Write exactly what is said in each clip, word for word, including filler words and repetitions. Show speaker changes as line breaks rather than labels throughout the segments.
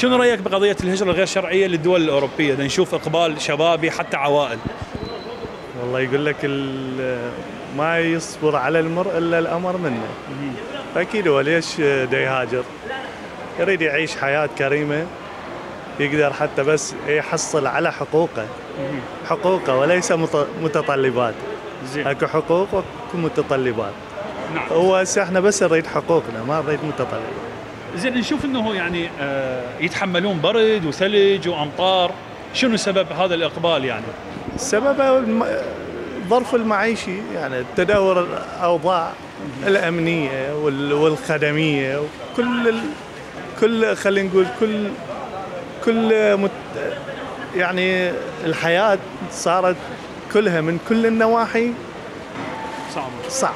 شنو رايك بقضيه الهجره الغير شرعيه للدول الاوروبيه؟ نشوف اقبال شبابي حتى عوائل.
والله يقول لك ما يصبر على المرء الا الامر منه. فاكيد هو ليش دا يهاجر؟ يريد يعيش حياه كريمه، يقدر حتى بس يحصل على حقوقه حقوقه وليس متطلبات.
زين.
اكو حقوق واكو متطلبات.
نعم.
هو هسه احنا بس نريد حقوقنا، ما نريد متطلبات.
زين، نشوف انه يعني آه يتحملون برد وثلج وامطار، شنو سبب هذا الاقبال يعني؟
السبب الظرف المعيشي، يعني تدهور الاوضاع الامنيه والخدميه وكل ال... كل خلينا نقول كل كل مت... يعني الحياه صارت كلها من كل النواحي
صعبه
صعب.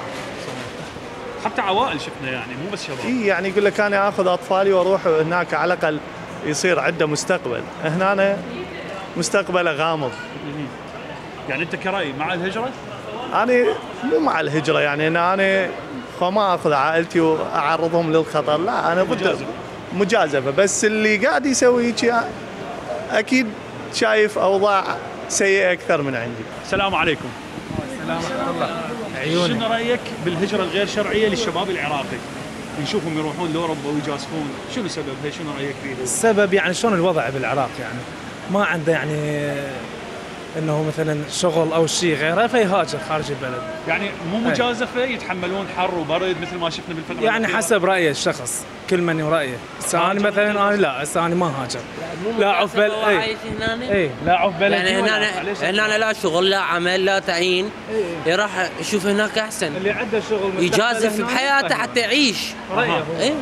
حتى عوائل شفنا يعني مو بس شباب.
اي يعني يقول لك انا اخذ اطفالي واروح هناك على الاقل يصير عنده مستقبل، هنا أنا مستقبله غامض.
يعني انت كرأي مع الهجره؟
انا مو مع الهجره، يعني انا انا ما اخذ عائلتي واعرضهم للخطر، لا انا ضد مجازفه، بس اللي قاعد يسوي هيك اكيد شايف اوضاع سيئه اكثر من عندي.
السلام عليكم.
السلام ورحمه الله. عيوني.
شنو رايك بالهجره الغير شرعيه للشباب العراقي؟ نشوفهم يروحون لاوروبا ويجازفون، شنو سببها؟ شنو رايك فيها؟
السبب يعني شلون الوضع بالعراق، يعني ما عنده يعني انه مثلا شغل او شيء غيره فيهاجر خارج البلد.
يعني مو مجازفه، يتحملون حر وبرد مثل ما شفنا بالفتره
يعني
الأخيرة.
حسب راي الشخص، كل من ورأيه. هسه انا مثلا انا لا هسه انا ما هاجر. لا عف بل اي اي لا عف بلدي.
يعني هنا هنا لا شغل لا عمل لا تعيين، يروح يشوف هناك احسن.
اللي عنده شغل
يجازف بحياته حتى يعيش.
رأيه.
اي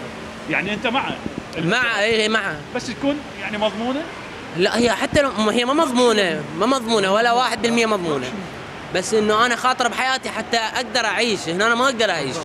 يعني انت مع
مع اي معه،
بس تكون يعني مضمونه.
لا هي حتى هي ما مضمونه ما مضمونه ولا واحد بالمية مضمونه، بس انه انا خاطر بحياتي حتى اقدر اعيش. هنا انا ما اقدر اعيش.